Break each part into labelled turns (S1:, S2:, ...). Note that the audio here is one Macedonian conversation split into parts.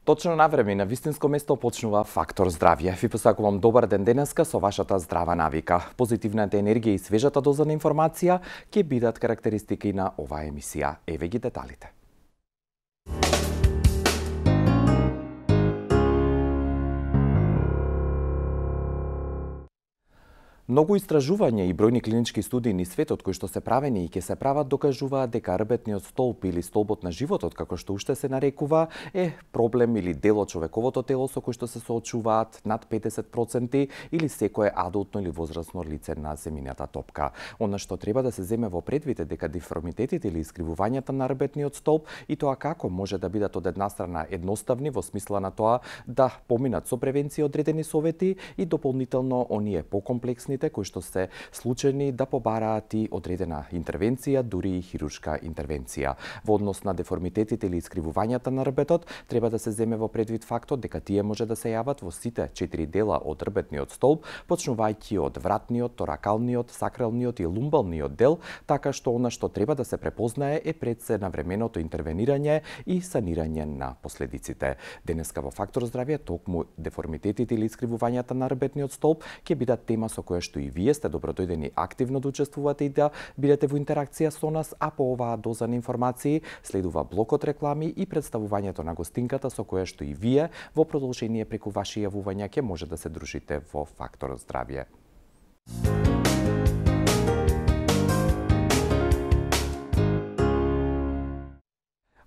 S1: Точно на време и на вистинско место почнува Фактор здравје. Ви посакувам добар ден денеска со вашата здрава навика. Позитивната енергија и свежата доза на информација ќе бидат карактеристики на оваа емисија. Еве ги деталите. Многу истражувања и бројни клинички студии низ светот кои што се правени и ќе се прават докажуваат дека рбетниот столб или столбот на животот, како што уште се нарекува, е проблем или дел од човековото тело со кој што се соочуваат над 50% или секое адултно или возрасно лице на земјината топка. Она што треба да се земе во предвид е дека деформитетите или искривувањата на рбетниот столб и тоа како може да бидат од една страна едноставни во смисла на тоа да поминат со превенција одредени совети и дополнително оние покомплексни кои што се случајни да побараат и одредена интервенција, дури и хируршка интервенција. Во однос на деформитетите или искривувањата на рбетот, треба да се земе во предвид фактот дека тие може да се јават во сите 4 дела од рбетниот столб, почнувајќи од вратниот, торакалниот, сакралниот и лумбалниот дел, така што она што треба да се препознае е пред се навременото интервенирање и санирање на последиците. Денеска во Фактор здравје токму деформитетите или искривувањата на рбетниот столб ќе бидат тема со која што и вие сте добродојдени активно да учествувате и да бидете во интеракција со нас, а по оваа доза на информации следува блокот реклами и представувањето на гостинката со која што и вие во продолжение преку ваши јавувања ќе може да се дружите во Фактор здравје.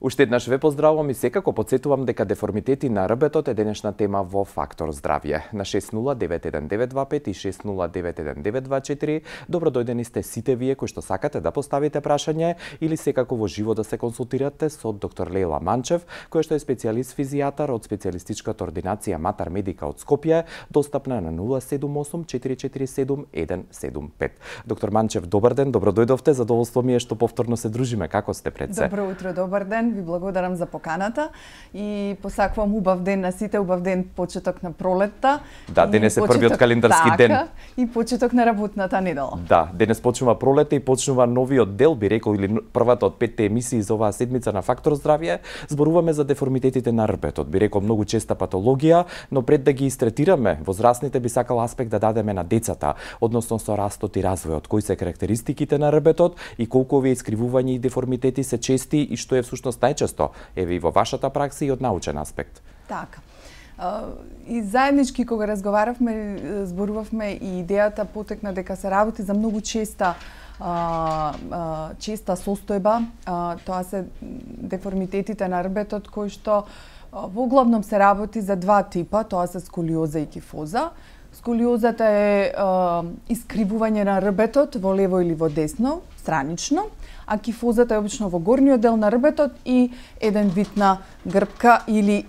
S1: Уште еднаш ве поздравувам и секако потсетувам дека деформитети на рбетот е денешна тема во Фактор здравје. На 60919225 и 60919224 добродојдени сте сите вие кои што сакате да поставите прашање или секако во живо да се консултирате со доктор Лејла Манчев, која што е специјалист физијатар од специјалистичката ординација Матар Медика од Скопје, достапна на 078 447 175. Доктор Манчев, добар ден, добродојдовте, задоволство ми е што повторно се дружиме. Како сте пред се?
S2: Добро утро, добар ден. Ви благодарам за поканата и посакувам убав ден на сите, убав ден почеток на пролетта.
S1: Да, денес е првиот календарски ден.
S2: И почеток на работната недела.
S1: Да, денес почнува пролета и почнува новиот дел, би рекол, или првата од 5 емисии за оваа седмица на Фактор здравје. Зборуваме за деформитетите на рбетот, би рекол многу честа патологија, но пред да ги истретираме, возрастните би сакал аспект да дадеме на децата, односно со растот и развојот, кои се карактеристиките на рбетот и колку овие искривувања и деформитети се чести и што е всушност најчесто, еве и во вашата пракса и од научен аспект.
S2: Така. И заеднички кога разговаравме, зборувавме и идејата потекна дека се работи за многу честа состојба. Тоа се деформитетите на рбетот кои што во главном се работи за два типа, тоа се сколиоза и кифоза. Сколиозата е искривување на рбетот во лево или во десно, странично, а кифозата е обично во горниот дел на рбетот и еден вид на грбка или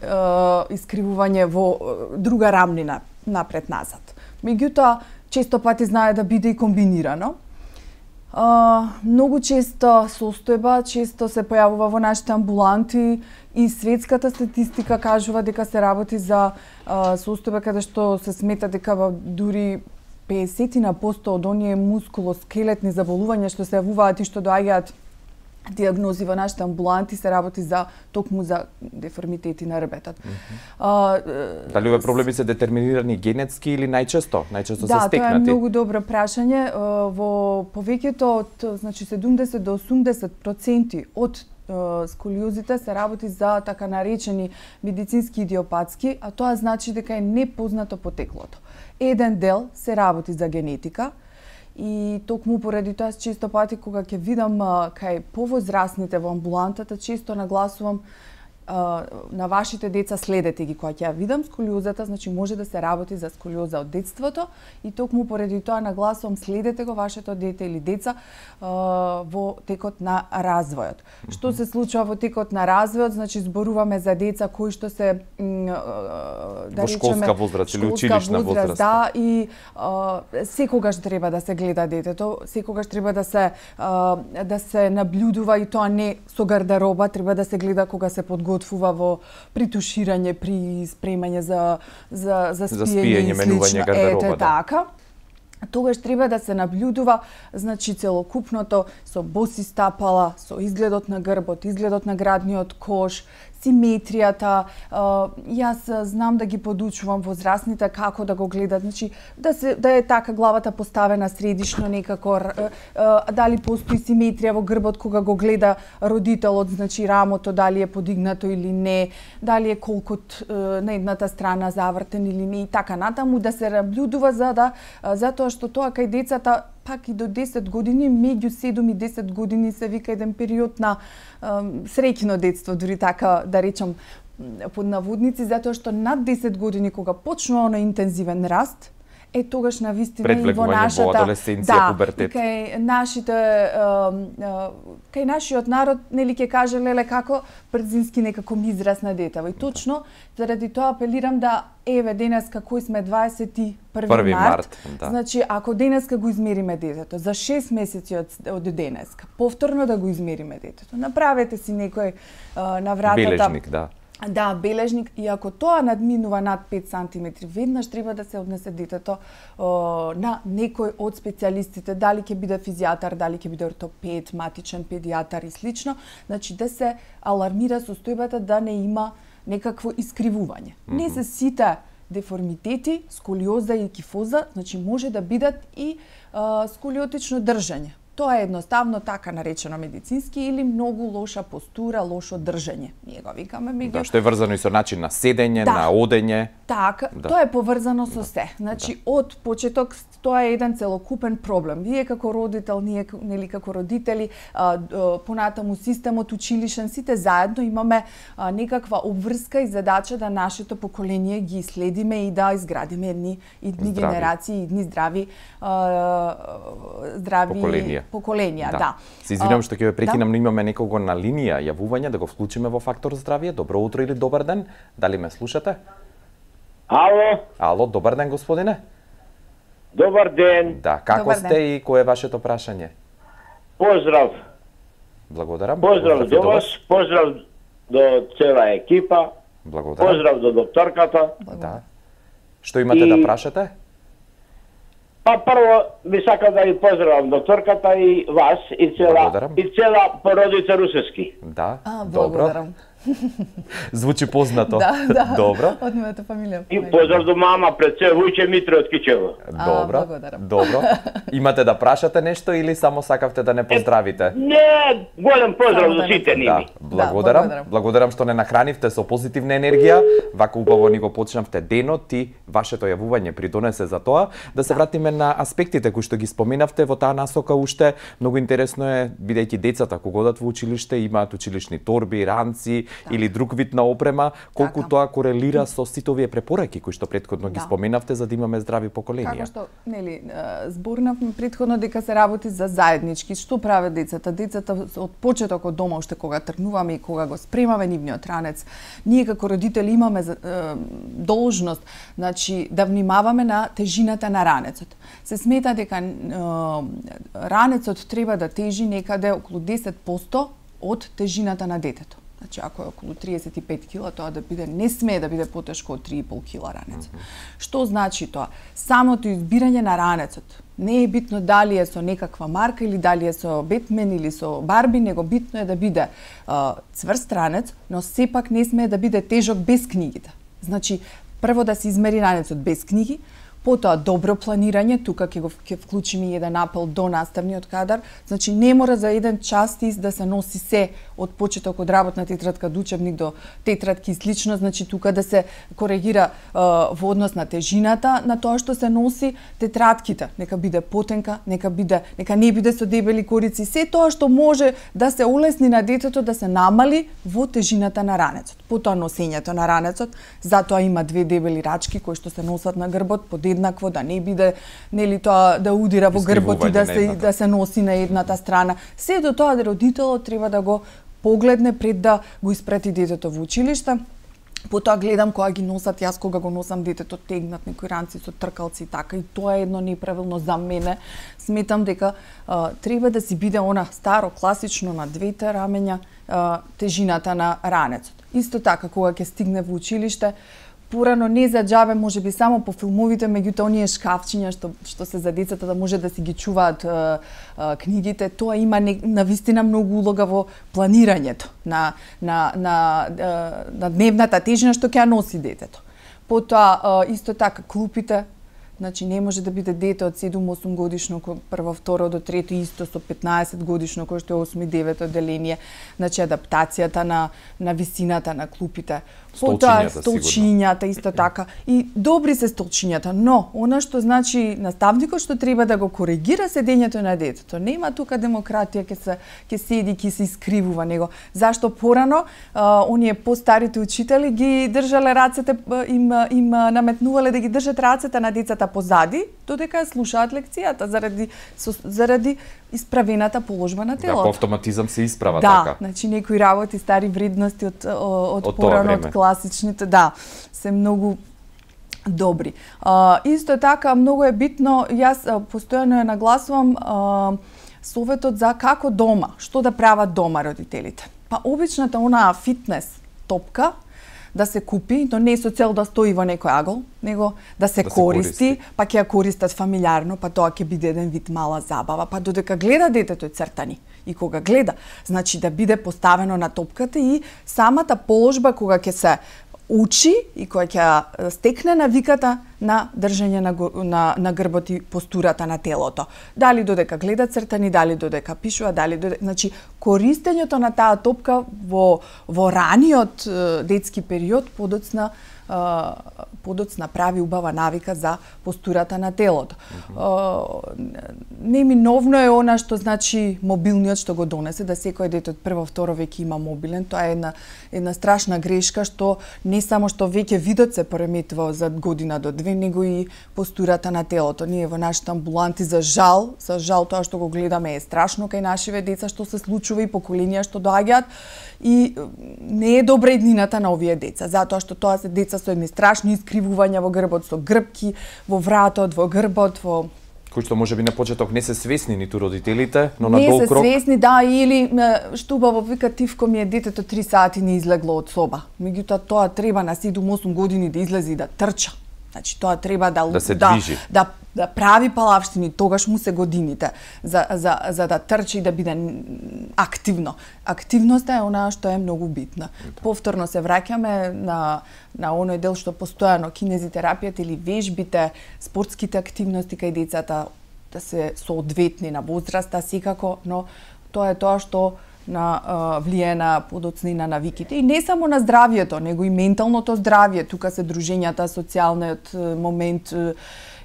S2: искривување во друга рамнина напред-назад. Меѓутоа, често пати знае да биде и комбинирано. Многу често состојба често се појавува во нашите амбуланти и светската статистика кажува дека се работи за состојба каде што се смета дека дури 50% од оние мускулоскелетни заболувања што се јавуваат и што доаѓаат диагнози во нашите амбуланти се работи за токму за деформитети на рбетот.
S1: Дали овие проблеми се детерминирани генетски или најчесто се стекнати?
S2: Да, тоа е многу добро прашање. Во повеќето од, значи 70 до 80% од сколиозите се работи за така наречени медицински идиопатски, а тоа значи дека е непознато потеклото. Еден дел се работи за генетика и токму поради тоа често пати кога ќе видам кај повозрастните во амбулантата, често нагласувам на вашите деца следете ги кога ќе ја видам сколиозата, значи може да се работи за сколиоза од детството и токму поради тоа нагласувам следете го вашето дете или деца во текот на развојот. Што се случува во текот на развојот? Значи зборуваме за деца кои што се
S1: во школска возраст или училишна возраст.
S2: Да, и секогаш треба да се гледа детето, секогаш треба да се наблюдува и тоа не со гардероба, треба да се гледа кога се подготвува во притуширање, при спремање за спиење,
S1: менување гардероба.
S2: Така. Тогаш треба да се наблюдува, значи целокупното со боси стапала, со изгледот на грбот, изгледот на градниот кош, симетријата. Јас знам да ги подучувам возрастните како да го гледат, значи да е така главата поставена средишно некако, дали постои симетрија во грбот кога го гледа родителот, значи рамото дали е подигнато или не, дали е колкот на едната страна завртен или не и така натаму, да се наблюдува затоа што тоа кај децата пак и до 10 години, меѓу 7 и 10 години се вика еден период на среќно детство, дури така да речам под наводници, затоа што над 10 години кога почнува оној интензивен раст, тогаш на вистина и во нашата
S1: пубертет.
S2: Кај нашиот народ нели ќе каже леле како брзински некако ми израсна детево. И точно заради тоа апелирам да денеска кој сме 21 март. Значи ако денеска го измериме детето за 6 месеци од денеска, повторно да го измериме детето. Направете си некој на вратата
S1: бележник, да.
S2: Да, бележник, и ако тоа надминува над 5 см, веднаш треба да се однесе детето на некој од специјалистите, дали ќе биде физијатар, дали ќе биде ортопед, матичен педијатар и слично, значи да се алармира состојбата да не има некакво искривување. Не се сите деформитети, сколиоза и кифоза, значи може да бидат и сколиотично држање. Тоа е едноставно така наречено медицински или многу лоша постура, лошо држање. Ние го викаме
S1: Да, што е врзано и со начин на седење, на одење.
S2: Така, тоа е поврзано со се. Значи од почеток тоа е еден целокупен проблем. Вие како родител, ние нели како родители, понатаму системот училишен, сите заедно имаме некаква обврска и задача да нашето поколение ги следиме и да изградиме едни генерации, едни здрави поколенија, да.
S1: Се извинувам што ќе ве прекинам, но имаме некого на линија јавување, да го вклучиме во Фактор здравје. Добро утро или добар ден. Дали ме слушате?
S3: Ало.
S1: Ало, добар ден, господине.
S3: Добар ден.
S1: Да, како сте и кое е вашето прашање?
S3: Поздрав.
S1: Благодарам.
S3: Поздрав до вас, поздрав до цела екипа.
S1: Благодарам.
S3: Поздрав до докторката.
S1: Да. Што имате да прашате?
S3: Прво би сакал да ви поздравам докторката и вас и цела породица Русевски.
S1: Да.
S2: Благодарам.
S1: Звучи познато.
S2: Да.
S1: Добро.
S2: Од мојата фамилија.
S3: И поздрав до мама пред се Вујче Митро од Кичево.
S1: Добро. Добро. Имате да прашате нешто или само сакавте да не поздравите?
S3: Не, голем поздрав до сите ними.
S1: Благодарам. Благодарам што не нахранивте со позитивна енергија. Вака убаво ни го почнавте денот и вашето јавување придонесе за тоа. Да се вратиме на аспектите кои што ги споменавте во таа насока уште. Многу интересно е, бидејќи децата кога одат во училиште имаат училишни торби, ранци или друг вид на опрема, колку тоа корелира со сите овие препораки кои што претходно ги споменавте за да имаме здрави поколенија.
S2: Како што, нели, зборнавме претходно дека се работи за заеднички. Што прават децата? Децата од почеток од дома, уште кога тргнуваме и кога го спремаме нивниот ранец, ние како родители имаме должност, значи, да внимаваме на тежината на ранецот. Се смета дека ранецот треба да тежи некаде околу 10% од тежината на детето. Значи, ако е околу 35 кила, тоа да биде, не смее да биде потешко од 3,5 кила ранец. Што значи тоа? Самото избирање на ранецот. Не е битно дали е со некаква марка или дали е со Бетмен или со Барби, него битно е да биде цврст ранец, но сепак не смее да биде тежок без книгите. Значи, прво да се измери ранецот без книги, потоа добро планирање, тука ќе вклучиме еден апел до наставниот кадар, значи не мора за еден часопис да се носи се од почеток од работна тетрадка до учебник до тетрадки и слично, значи тука да се коригира во однос на тежината на тоа што се носи, тетрадките нека биде потенка, нека не биде со дебели корици, се тоа што може да се улесни на детето да се намали во тежината на ранецот. Потоа носењето на ранецот, затоа има две дебели рачки кои што се носат на грбот подеднакво, да не биде нели тоа да удира во грбот и да се носи на едната страна. Се до тоа да родителот треба да го погледне пред да го испрати детето во училиште. Потоа гледам кога ги носат, јас кога го носам детето тегнат некои ранци со тркалци и така, и тоа е едно неправилно за мене. Сметам дека треба да си биде она старо класично на двете рамења тежината на ранецот. Исто така кога ќе стигне во училиште, порано не за џабе, можеби само по филмовите, меѓутоа оние шкафчиња што се за децата да може да си ги чуваат книгите, тоа има навистина многу улога во планирањето на дневната тежина што ќе ја носи детето. Потоа исто така клупите. Значи не може да биде дете од 7-8 годишно кој прво, второ до трето исто со 15 годишно кој што е 8-9 одделение. Значи адаптацијата на висината на клупите. Столчињата исто така. И добри се столчињата, но она што значи наставникот што треба да го коригира седењето на детето. Нема тука демократија, ќе седи, ќе се искривува него. Зашто порано оние постарите учители ги држале рацете, им наметнувале да ги држат рацете на децата позади, додека слушаат лекцијата заради исправената положба на телото.
S1: Да, по автоматизам се исправа
S2: така. Да, значи некои работи, стари вредности од порано, од класичните, да, се многу добри. Исто така, многу е битно, јас постојано ја нагласувам советот за како дома, што да прават дома родителите. Па обичната онаа фитнес топка, да се купи, но не со цел да стои во некој агол, него да се користи, па ќе ја користат фамилиарно, па тоа ќе биде еден вид мала забава, па додека гледа детето цртани. И кога гледа, значи да биде поставено на топката и самата положба кога ќе се учи и која ќе стекне навиката на држање на грбот и постурата на телото. Дали додека гледа цртани, дали додека пишува, значи користењето на таа топка во раниот детски период подоцна прави убава навика за постурата на телото. Неминовно е она што значи мобилниот што го донесе, да секој дете од прво, второ веќе има мобилен. Тоа е една страшна грешка што не само што веќе видот се пореметува за година до две, него и постурата на телото. Ние во нашите амбуланти за жал тоа што го гледаме е страшно кај нашиве деца што се случува и поколенија што доаѓаат и не е добра иднината на овие деца, затоа што тоа се деца со едни страшни искривувања во грбот, со грбки во вратот, во грбот,
S1: кои што можеби на почеток не се свесни ниту родителите, но на долг рок...
S2: Не се свесни, да, или што убаво вика Тивко ми е детето 3 сати не излегло од соба. Меѓутоа тоа треба на 7-8 години да излезе и да трча. Значи тоа треба
S1: да се движи.
S2: Да прави палавштини, тогаш му се годините за да трчи и да биде активно. Активноста е она што е многу битна. Повторно се враќаме на оној дел што постојано кинезитерапијата или вежбите, спортските активности кај децата да се соодветни на возраста секако, но тоа е тоа што влијае на подоцна и на навиките. И не само на здравието, него и менталното здравие. Тука се дружењата, социјалниот момент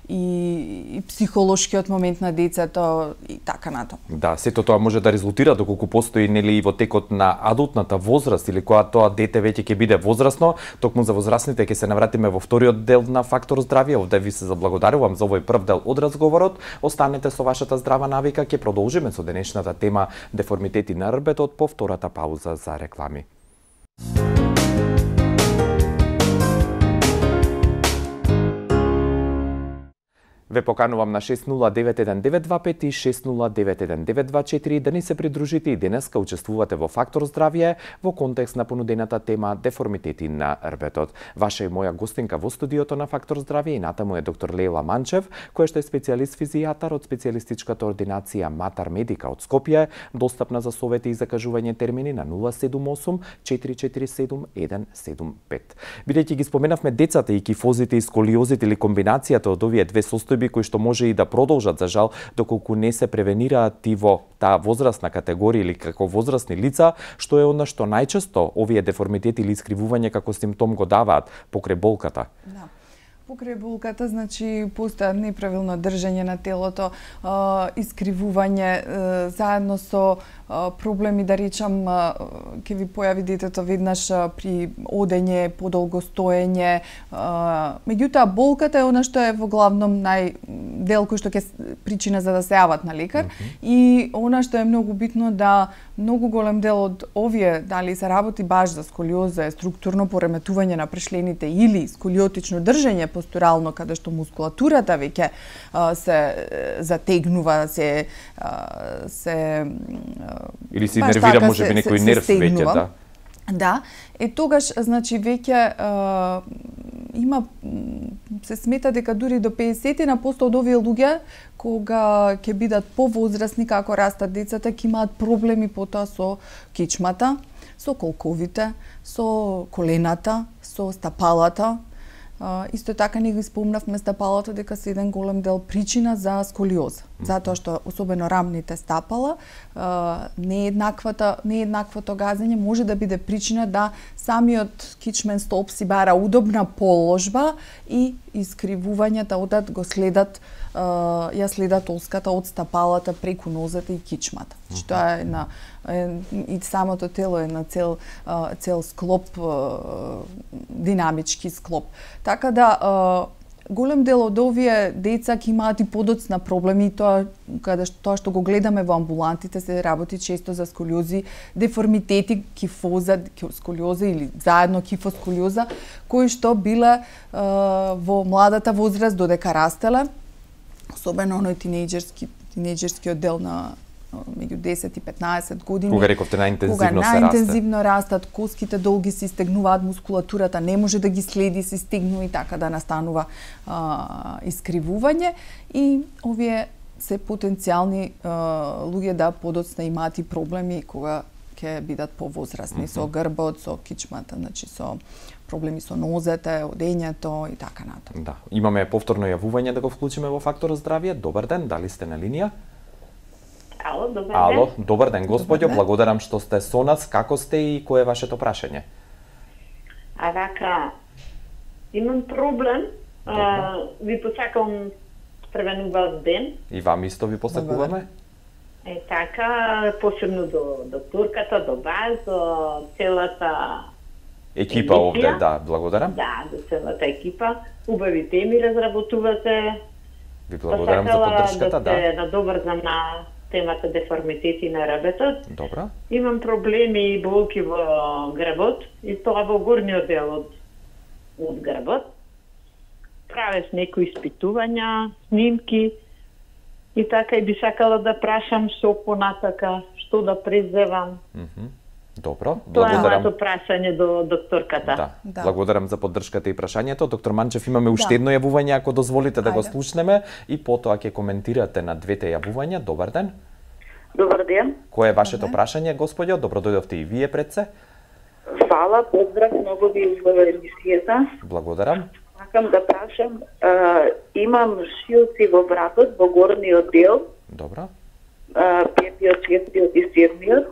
S2: и психолошкиот момент на децето и така натаму.
S1: Да, сето тоа може да резултира доколку постои нели и во текот на адултната возраст или кога тоа дете веќе ќе биде возрасно, токму за возрастните ќе се навратиме во вториот дел на Фактор здравје. Овде ви се заблагодарувам за овој прв дел од разговорот. Останете со вашата здрава навика, ќе продолжиме со денешната тема деформитети на рбетот по втората пауза за реклами. Ве поканувам на 6091925 и 6091924 да ни се придружите и денеска учествувате во Фактор здравје во контекст на понудената тема деформитети на рбетот. Ваша и моја гостинка во студиото на Фактор здравје и натаму е доктор Лела Манчев, која што е специјалист физијатар од специјалистичката ординација Матар Медика од Скопје, достапна за совети и закажување термини на 078 447 175. Бидејќи ги споменавме децата и кифозите и сколиозите или комбинацијата од овие две состојби кои што може и да продолжат за жал доколку не се превенираат и во таа возрастна категорија или како возрастни лица, што е она што најчесто овие деформитети или искривување како симптом го даваат покрај болката.
S2: Да. Покрај болката, значи, постојат неправилно држање на телото, искривување, заедно со проблеми, да речам, ќе ви појави детето веднаш при одење, подолго стоење. Меѓутоа, болката е она што е во главном дел кој што ќе причина за да се јават на лекар. И она што е многу битно да многу голем дел од овие, дали се работи баш за сколиоза, структурно пореметување на пришлените или сколиотично држање постурално, каде што мускулатурата веќе се затегнува,
S1: или се нервира, може би некој нерв веќе, да.
S2: Да, тогаш, значи, веќе има, се смета дека дури до 50% од овие луѓе, кога ќе бидат повозрасни, како растат децата, ќе имаат проблеми потоа со кичмата, со колковите, со колената, со стапалата. Исто така не ги спомнавме стапалата дека се еден голем дел причина за сколиоза. Затоа што особено рамните стапала, нееднаквото газење може да биде причина да самиот кичмен столб си бара удобна положба и искривувањата одат го следат ја следат олската од стапалата преку нозете и кичмата. Тоа е на и самото тело е на цел склоп, динамички склоп. Така да голем дел од овие деца ќе имаат и подоцна проблеми, тоа што го гледаме во амбулантите, се работи често за сколиози, деформитети, кифоза, сколиоза или заедно кифосколиоза, кои што биле во младата возраст додека растеле, особено оној тинејџерскиот дел на меѓу 10 и 15 години.
S1: Кога рековте најинтензивно се
S2: најинтензивно растат, коските долги се стегнуваат, мускулатурата не може да ги следи, се стегнува и така да настанува искривување и овие се потенцијални луѓе да подоцна имаат и проблеми кога ќе бидат повозрасни, со грбот, со кичмата, значи со проблеми со нозете, одењето и така натаму.
S1: Да, имаме повторно јавување да го вклучиме во фактор здравје. Добар ден, дали сте на линија?
S4: Ало, добар ден.
S1: Ало, добар ден, господјо, благодарам што сте со нас. Како сте и кое е вашето прашање?
S4: Рака, имам проблем. Ви посакам првен убав ден.
S1: И вам исто ви посакуваме.
S4: Така, посебно до докторката, до вас, до целата
S1: екипа овде, да, благодарам.
S4: Да, до целата екипа. Убави теми разработувате.
S1: Ви благодарам за поддршката, да.
S4: Да надобрзам на темата деформитети на ребетот.
S1: Добро.
S4: Имам проблеми и болки во грбот, и тоа во горниот дел од грбот. Правев некои испитувања, снимки, и така и би сакала да прашам што понатака, што да презевам.
S1: Добро,
S4: тоа е моето прашање до докторката.
S1: Да. Благодарам за поддршката и прашањето. Доктор Манчев, имаме уште едно јавување, ако дозволите да го слушнеме, и потоа ќе коментирате на двете јавувања. Добар ден.
S5: Добар ден.
S1: Кое е вашето прашање, господјо? Добро дојдовте и вие пред се.
S5: Фала, поздрав, многу ви изгледа емисијата.
S1: Благодарам.
S5: Сакам да прашам, имам шилци во вратот, во горниот дел.
S1: Добро.
S5: Петиот, шестиот и седмиот.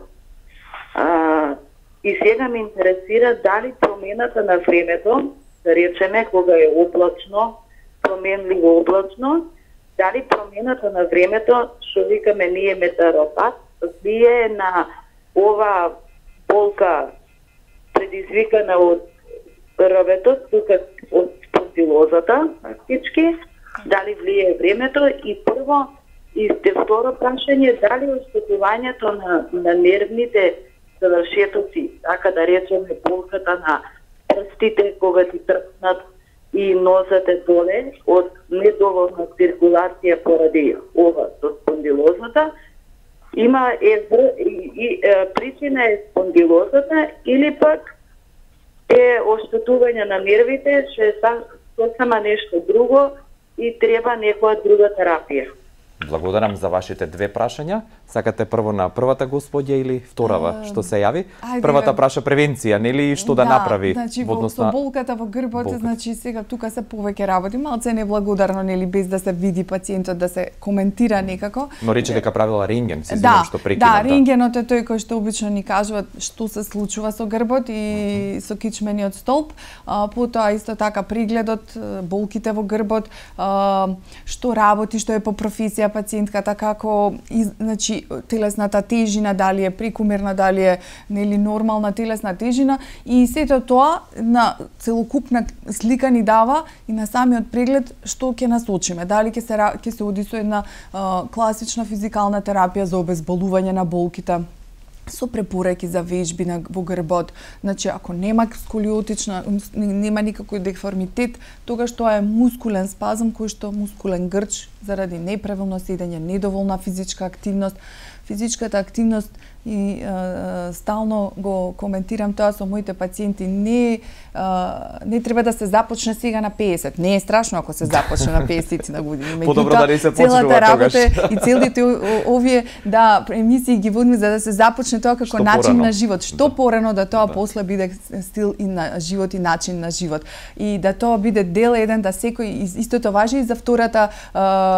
S5: И сега ме интересира дали промената на времето, да речеме кога е облачно, променливо облачно, дали промената на времето, што викаме ние метеоропат, влие на ова болка предизвикана од рветот, тука од спондилозата, фактички, дали влие времето и прво, и второ прашање, дали оштетувањето на нервните завршетоци, така да речеме болката на прстите кога ти трпнат и нозете доле од недоволна циркулација поради ова со спондилозата, има причина е спондилозата или пак е оштетување на нервите, што е сосема нешто друго и треба некоја друга терапија.
S1: Благодарам за вашите две прашања. Сакате прво на првата господја или вторава што се јави? Првата праша превенција, нели, што да направи?
S2: Значи со болката во грбот, значи сега тука се повеќе работи, малце неблагодарно, нели, без да се види пациентот, да се коментира некако.
S1: Но рече дека правила рентген, се знам што прекинав.
S2: Да, рентгенот е тој кој што обично ни кажува што се случува со грбот и со кичмениот столб. Потоа исто така прегледот, болките во грбот, што работи, што е по професија пациентката, како значи телесната тежина, дали е прекумерна, дали е нели нормална телесна тежина, и сето тоа на целокупна слика ни дава и на самиот преглед што ќе насочиме. Дали ќе се оди со една класична физикална терапија за обезболување на болките, со препораки за вежби во грбот. Значи, ако нема сколиотична, нема никакој деформитет, тогаш тоа е мускулен спазм, кој што мускулен грч заради неправилно седење, недоволна физичка активност. Физичката активност и стално го коментирам тоа со моите пациенти, не треба да се започне сега на 50. Не е страшно ако се започне на 50 на години.
S1: Подобро да не се почнува
S2: целата работа
S1: тогаш.
S2: и целите овие емисии ги водиме за да се започне тоа како
S1: Што
S2: начин
S1: порано.
S2: на живот. Што порано да тоа
S1: Да.
S2: после биде стил и на живот и начин на живот. И да тоа биде дел еден, да секој, истото важи и за втората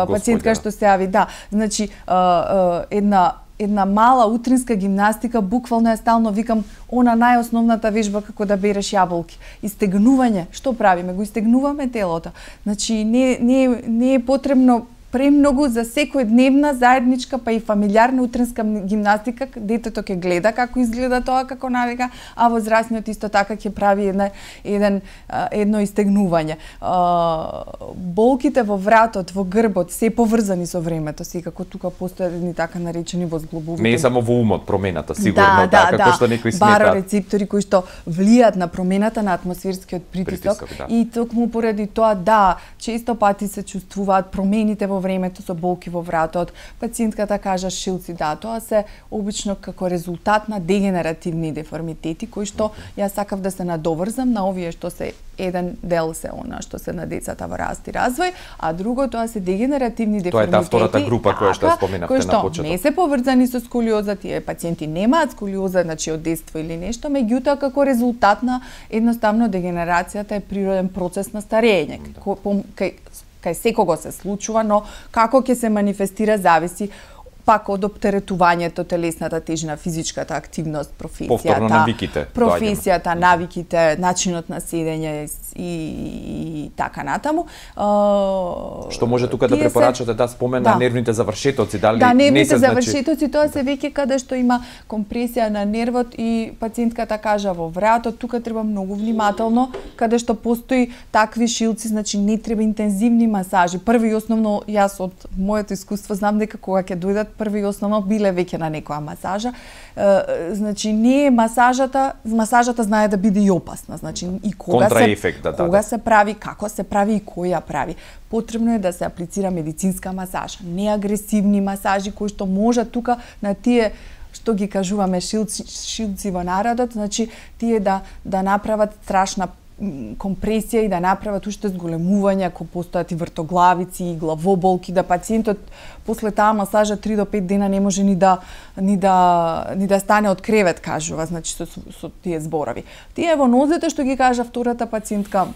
S2: пациентка што се јави. Да, значи една мала утринска гимнастика, буквално е стално викам она најосновната вежба како да береш јаболки. Истегнување, што правиме? Го истегнуваме телото. Значи не е потребно премногу за секојдневна заедничка па и фамилиарна утринска гимнастика. Детето ќе гледа како изгледа тоа како навика, а возрастниот исто така ќе прави едно истегнување. Болките во вратот, во грбот се поврзани со времето, секако тука постојат едни така наречени возглобовите.
S1: Не е само во умот промената, сигурно, како што некои сметаат.
S2: Барорецептори кои што влијат на промената на атмосферскиот притисок.
S1: Да.
S2: И токму поради тоа, да, често пати се чувствуваат промените во времето со болки во вратот. Пациентката кажа шилци, да, тоа се обично како резултат на дегенеративни деформитети кои што јас сакав да се надоврзам на овие што се еден дел се она што се на децата во раст и развој, а друго тоа се дегенеративни деформитети.
S1: Тоа е таа втората група која што споменавте на почеток.
S2: Не се поврзани со сколиоза, тие пациенти немаат сколиоза, значи од детство или нешто, меѓутоа како резултат на едноставно дегенерацијата е природен процес на старење. Кај секого се случува, но како ќе се манифестира зависи пак од оптеретувањето, телесната тежина, физичката активност, професијата, навиките, начинот на седење и така натаму.
S1: Што може тука да препорачате да спомена нервните завршетоци, дали
S2: да, нервните
S1: не се
S2: завршетоци, тоа се веќе каде што има компресија на нервот и пациентката кажа во вратот, тука треба многу внимателно, каде што постои такви шилци, значи не треба интензивни масажи. Први и основно, јас од моето искуство знам дека кога ќе дојдат први и основно биле веќе на некоја масажа. Значи не е масажата знае да биде и опасна, значи и кога се прави, како се прави и кој ја прави. Потребно е да се аплицира медицинска масажа, не агресивни масажи кои што може тука на тие што ги кажуваме шилци во народот, значи тие да направат страшна компресија и да направат уште зголемување, ако постојат и вртоглавици и главоболки, да пациентот после таа масажа 3 до 5 дена не може ни да стане од кревет, кажува, значи со тие зборови. Тие во нозете што ги кажа втората пациентка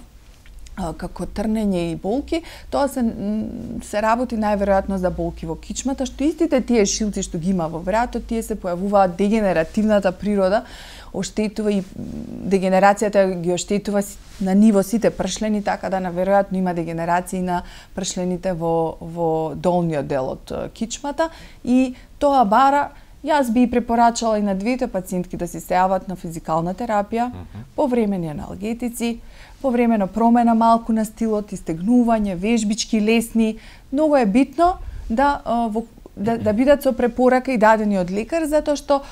S2: како трнење и болки, тоа се работи најверојатно за болки во кичмата, што истите тие шилци што ги има во вратот, тие се појавуваат дегенеративната природа, оштетува и дегенерацијата ги оштетува на ниво сите пршлени, така да наверојатно има дегенерација на пршлените во долниот дел од кичмата и тоа бара. Јас би препорачала и на двете пациентки да се јават на физикална терапија, повремени аналгетици, повремено промена малку на стилот, истегнување, вежбички лесни. Многу е битно да бидат со препорака и дадени од лекар, затоа што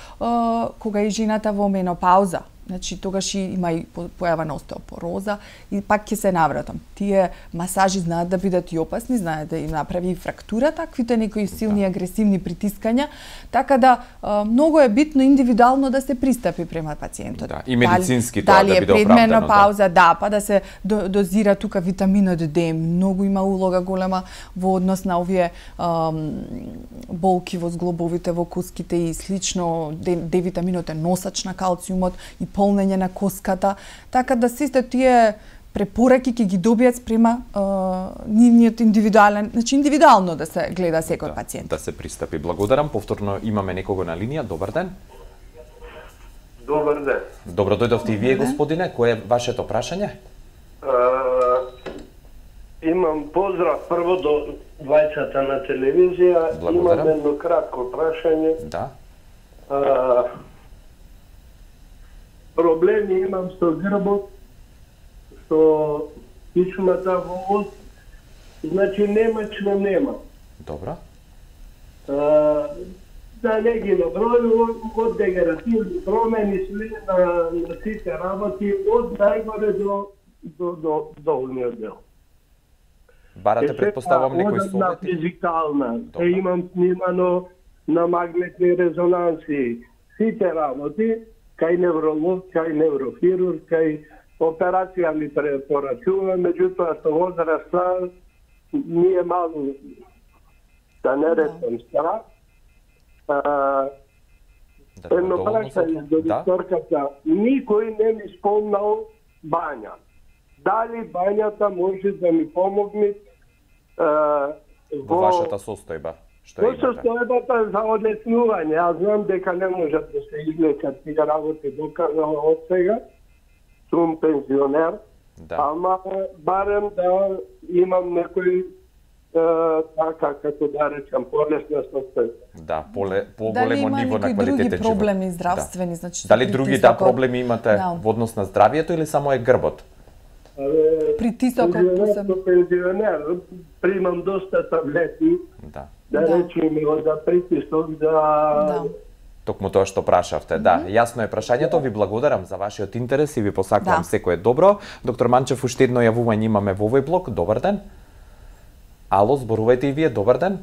S2: кога и жената во менопауза, значи тогаш има и појава на остеопороза и пак ќе се навратам. Тие масажи знаат да бидат и опасни, знаат да им направи и фрактура, таквите некои силни агресивни притискања, така да многу е битно индивидуално да се пристапи према пациентот.
S1: Да, и медицински тоа да биде оправдано.
S2: Дали е предменопауза, да, па да се дозира тука витаминот D, многу има улога голема во однос на овие болки во зглобовите, во коските и слично. D витаминот е носач на калциумот и полнење на коската, така да сите тие препораки ќе ги добијат спрема нивниот индивидуален, значи индивидуално да се гледа секој пациент.
S1: Да се пристапи. Благодарам. Повторно имаме некого на линија. Добар ден.
S6: Добар ден.
S1: Добро дојдовте и вие, господине. Кој е вашето прашање?
S6: Имам поздрав прво до двајцата на телевизија.
S1: Благодарам.
S6: Имам едно кратко прашање.
S1: Да.
S6: Проблеми имам со грбот, со кичмата во ост, значи немачно нема.
S1: Добро.
S6: да не ги набројувам, од дегенеративни промени све на сите работи, од најгоре до долниот дел.
S1: Барате, предпоставам, некои совети?
S6: На физикална, имам снимано на магнетни резонанси, сите работи, кај невролог, кај неврохирург, кај операција ми препорачува, меѓутоа со возраста ми е малку, да не речам страх. Едно прашање до докторката, никој не ми спомнал бања. Дали бањата може да ми помогне
S1: во вашата состојба?
S6: Во состојбата за одлеснување. Јас знам дека не можат да се излечат тие работи доказано од сега. Сум пензионер, ама барем да имам некој така, како да речам, полесна состојба.
S1: Да, поголемо ниво на квалитетен живот.
S2: Дали има други проблеми здравствени? Значи,
S1: дали други проблеми имате во однос на здравието или само е грбот?
S2: Притисокот посебно.
S6: Пензионер, примам доста таблети, да речем за притисок,
S1: Токму тоа што прашавте. Да, јасно е прашањето. Ви благодарам за вашиот интерес и ви посакувам секое добро. Доктор Манчев, уште едно јавување имаме во овој блок. Добар ден. Ало, зборувајте и вие. Добар ден.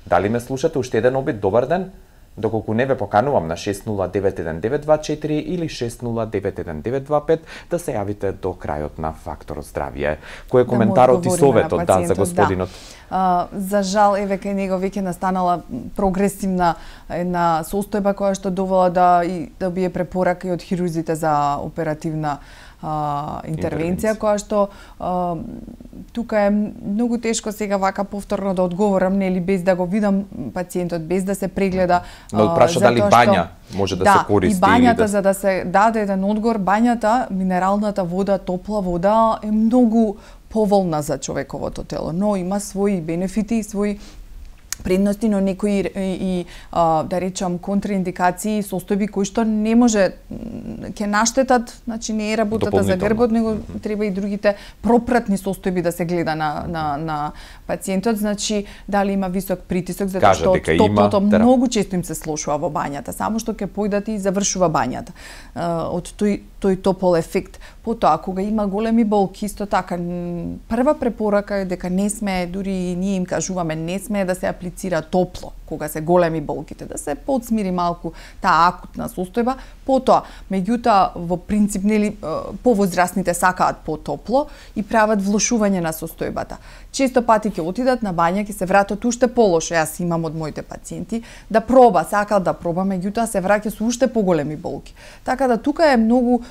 S1: Дали ме слушате? Уште еден обид. Добар ден. Доколку не ве поканувам на 6091924 или 6091925 да се јавите до крајот на Фактор здравје. Кој е коментарот и советот за господинот?
S2: За жал, еве кај него веќе настанала прогресивна една состојба која што довела да бие препорака и од хирурзите за оперативна интервенција, која што тука е многу тешко сега вака повторно да одговорам, нели, без да го видам пациентот, без да се прегледа.
S1: Но праша дали бања може да се користи?
S2: Да, и бањата, за да се даде еден одговор, бањата, минералната вода, топла вода е многу поволна за човековото тело, но има своји бенефити и своји предности, но некои и да речам контраиндикации, состојби кои што не може ќе наштетат, значи не е работата за грбот, него треба и другите пропратни состојби да се гледа на пациентот, значи дали има висок притисок, затоа што од топлото многу често им се слошува во бањата, само што ќе појдат и завршува бањата. Од тој топол ефект. Потоа, кога има големи болки, исто така, прва препорака е дека не смее, дури ние им кажуваме, не смее да се аплицира топло, кога се големи болките, да се подсмири малку таа акутна состојба. Потоа, меѓутоа, во принцип, нели, повозрастните сакаат потопло и прават влошување на состојбата. Често пати ќе отидат на бања, ќе се вратат уште полошо. Јас имам од моите пациенти да проба, сакал да проба, меѓутоа се враќа со уште поголеми болки. Така да тука е многу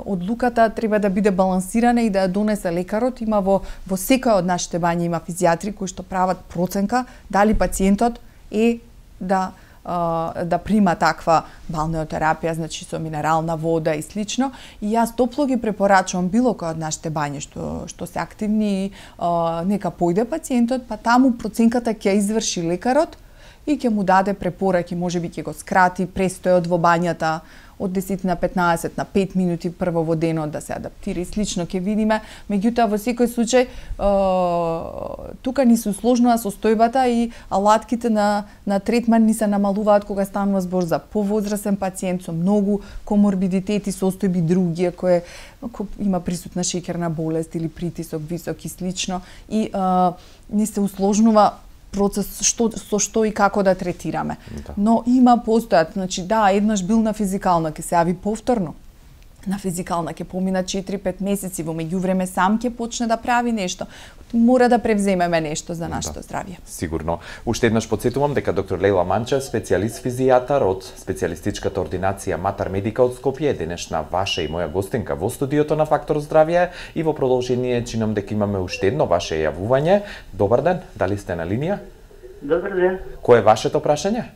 S2: одлуката треба да биде балансирана и да ја донесе лекарот. Има во секој од нашите бањи има физијатри кои што прават проценка дали пациентот е да прима таква балнеотерапија, значи со минерална вода и слично. И јас топло ги препорачувам било кој од нашите бањи што се активни, нека појде пациентот, па таму проценката ќе изврши лекарот и ќе му даде препораки, можеби ќе го скрати престојот во бањата од 10 на 15 на 5 минути прво во денот да се адаптира и слично ќе видиме. Меѓутоа во секој случај тука ни се усложнува состојбата и алатките на третман ни се намалуваат кога станува збор за повозрасен пациент со многу коморбидитети, состојби други кои има присутна шеќерна болест или притисок висок и слично и ни се усложнува процес со што и како да третираме. Но има постојат, значи еднаш бил на физикална, ќе се јави повторно. На физикална ќе помина 4-5 месеци, во меѓувреме сам ќе почне да прави нешто. Мора да превземеме нешто за нашето здравје.
S1: Сигурно. Уште еднаш потсетувам дека доктор Лела Манчев, специјалист физијатар од специјалистичката ординација Матар Медика од Скопје, е денешна ваша и моја гостинка во студиото на Фактор здравје и во продолжение чинам дека имаме уште едно ваше јавување. Добар ден, дали сте на линија?
S7: Добар ден.
S1: Кој е вашето прашање?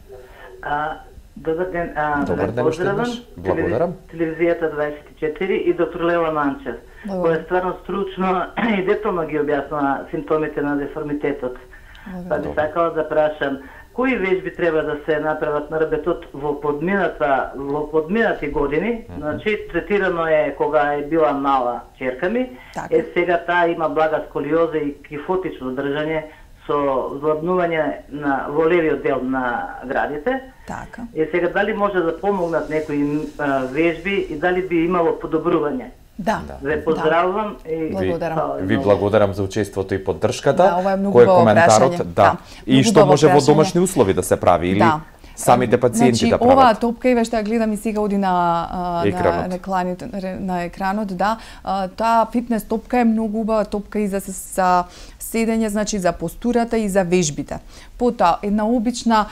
S7: Добар ден.
S1: Добар ден,
S7: поздравам.
S1: Благодарам.
S7: Телевизијата 24 и доктор Лела Манчев, која стварно стручно и детално ги објаснува симптомите на деформитетот. Па би сакала да прашам, кои вежби треба да се направат на ребетот во подминати години? Значи, третирано е кога е била мала ќерка ми, сега таа има блага сколиоза и кифотично држање со владнување во левиот дел на градите.
S2: Така.
S7: Сега дали може да помогнат некои вежби и дали би имало подобрување?
S2: Да.
S7: Ве поздравувам и
S1: ви благодарам за учеството и поддршката.
S2: Да, ова е многу
S1: кој е коментарот? Да. И што може во домашни услови да се прави или самите пациенти да прават?
S2: Оваа топка, и што ја гледам и сега оди на екранот, да. Таа фитнес топка е многу убава топка и за седење, значи за постурата и за вежбите. Потоа една обична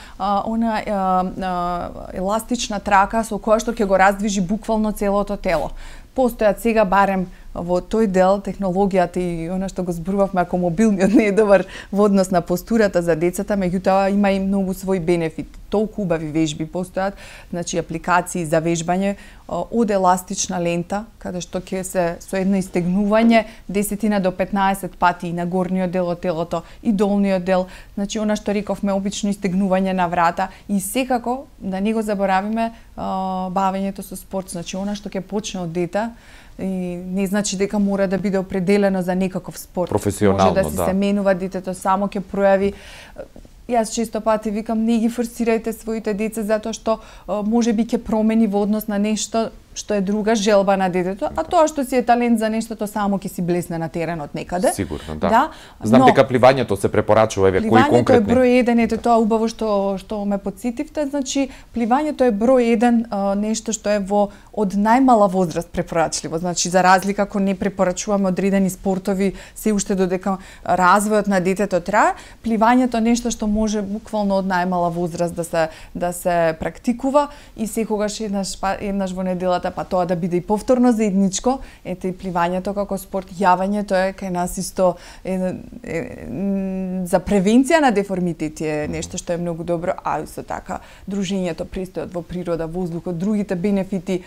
S2: еластична трака со која што ќе го раздвижи буквално целото тело. Постојат сега барем во тој дел технологијата и она што го зборувавме, ако мобилниот не е добар во однос на постурата за децата, меѓутоа има и многу свој бенефит. Толку убави вежби постојат, значи апликации за вежбање од еластична лента, каде што ќе се со едно истегнување 10 до 15 пати и на горниот дел од телото и долниот дел, значи она што рековме обично истегнување на врата и секако да не го заборавиме бавењето со спорт, значи она што ќе почне од дете и не значи дека мора да биде определено за некаков спорт.
S1: Професионално,
S2: може да се менува, детето само ќе пројави. Јас често пати викам, не ги форсирајте своите деца затоа што можеби ќе промени во однос на нешто што е друга желба на детето, а тоа што си е талент за нештото само ќе си блесне на теренот некаде.
S1: Сигурно, да. Знам дека пливањето се препорачува, еве кои конкретни.
S2: Пливањето е број 1, ете тоа убаво што ме потсетивте, значи пливањето е број 1 нешто што е од најмала возраст препорачливо, значи за разлика ако не препорачуваме одредени спортови се уште додека развојот на детето трае, пливањето нешто што може буквално од најмала возраст да се практикува и секогаш еднаш во неделата, па тоа да биде и повторно заедничко, ете и пливањето како спорт, јавањето е кај нас исто за превенција на деформитети е нешто што е многу добро, а исто така дружењето, престојот во природа, воздухот, другите бенефити.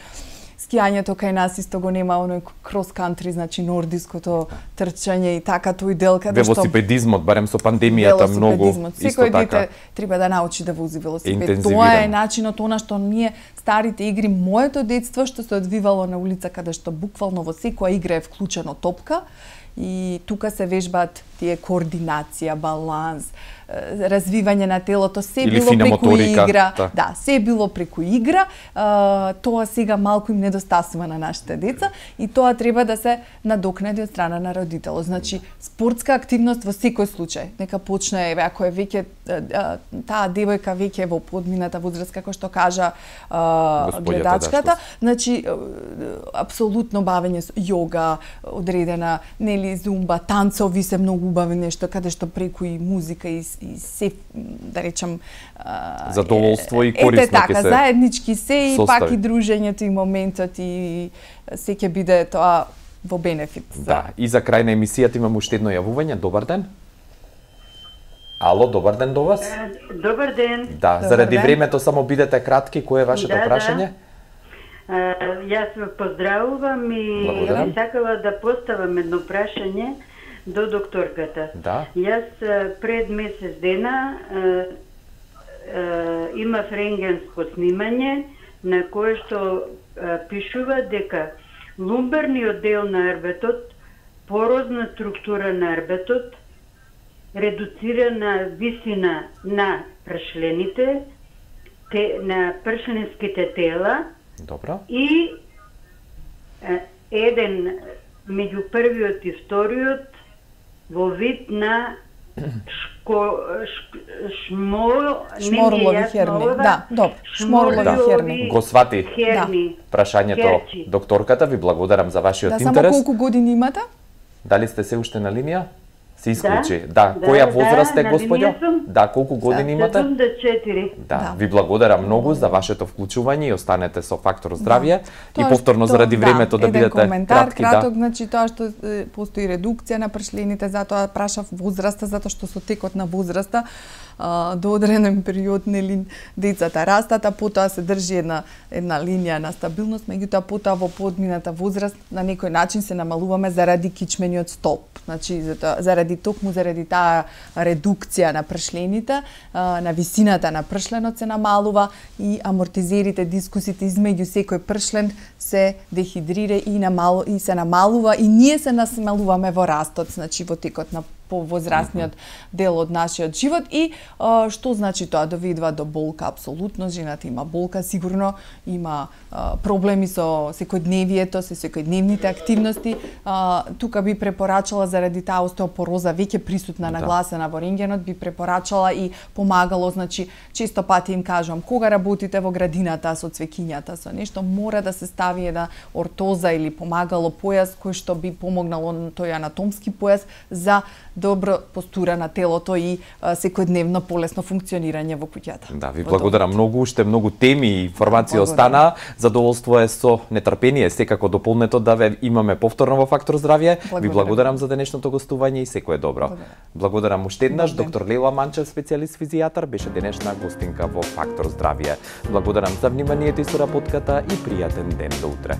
S2: Скијањето кај нас исто го нема оној крос кантри, значи нордиското трчање и така тој дел каде што
S1: велосипедизмот барем со пандемијата многу исто
S2: секој дете треба да научи да вози велосипед. Тоа е начинот она што ние старите игри, моето детство што се одвивало на улица каде што буквално во секоја игра е вклучено топка и тука се вежбаат тие координација, баланс, развивање на телото, се
S1: или
S2: било преку
S1: моторика,
S2: игра. Да, се било преку игра. Тоа сега малку им недостасува на нашите деца и тоа треба да се надокнади од страна на родителот. Значи, спортска активност во секој случај. Нека почне, еве, ако е веќе таа девојка веќе во подмината возраст, како што кажа гледачката, значи, апсолутно бавење со йога, одредена, нели, зумба, танцови се многу убави нешто, каде што преку и музика и се, да речам,
S1: задоволство и корисно
S2: ќе се заеднички се и пак и дружењето и моментот и се ќе биде тоа во бенефит.
S1: Да, и за крај на емисијата имам уште едно јавување. Добар ден. Ало, добар ден до вас.
S4: Добар ден.
S1: Да, заради времето само бидете кратки, кој е вашето прашање?
S4: Јас ве поздравувам и сакала да поставам едно прашање до докторката.
S1: Да.
S4: Јас пред месец дена имав рентгенско снимање на кое што пишува дека лумбарниот дел на арбетот, порозна структура на арбетот, редуцирана висина на пршлените, на пршленските тела.
S1: Добро.
S4: И еден меѓу првиот и вториот во вид на
S2: шморлови херни. Да, добро. Шморлови херни.
S1: Го свати прашањето докторката. Ви благодарам за вашиот интерес.
S2: Да, само колку години имате?
S1: Дали сте се уште на линија? Се исклучи. Да, која возраст е, господјо? Да, колку години имате?
S4: 74.
S1: Да, ви благодарам многу за вашето вклучување и останете со Фактор здравје и повторно заради времето да бидете кратки.
S2: Еден коментар краток, значи тоа што постои редукција на пршлените, затоа прашав возраста, затоа што со текот на возраста до одреден период нели децата растат, а потоа се држи една линија на стабилност, меѓутоа потоа во подмината возраст на некој начин се намалуваме заради кичмениот столб. Значи заради таа редукција на пршлените, на висината на пршленот се намалува и амортизерите, дискусите измеѓу секој пршлен се дехидрира и се намалува и ние се насмалуваме во растот, значи во текот на повозрастниот дел од нашиот живот. И што значи тоа? Доведува до болка, апсолутно. Жената има болка, сигурно има проблеми со секојдневието, со секојдневните активности. Тука би препорачала, заради таа остеопороза веќе присутна, нагласена во рентгенот, би препорачала и помагало, значи често пати им кажувам, кога работите во градината со цвеќињата, со нешто, мора да се стави една ортоза или помагало појас кој што би помогнало на тој анатомски појас за добро постура на телото и секојдневно полесно функционирање во куќата.
S1: Да, ви благодарам многу, уште многу теми и информации остана. Задоволство е со нетрпение секако дополнето да ве имаме повторно во Фактор здравје. Ви благодарам за денешното гостување и секое добро. Благодарам уште еднаш. Доктор Лела Манчев, специјалист физијатар, беше денешна гостинка во Фактор здравје. Благодарам за вниманието и соработката и пријатен ден до утре.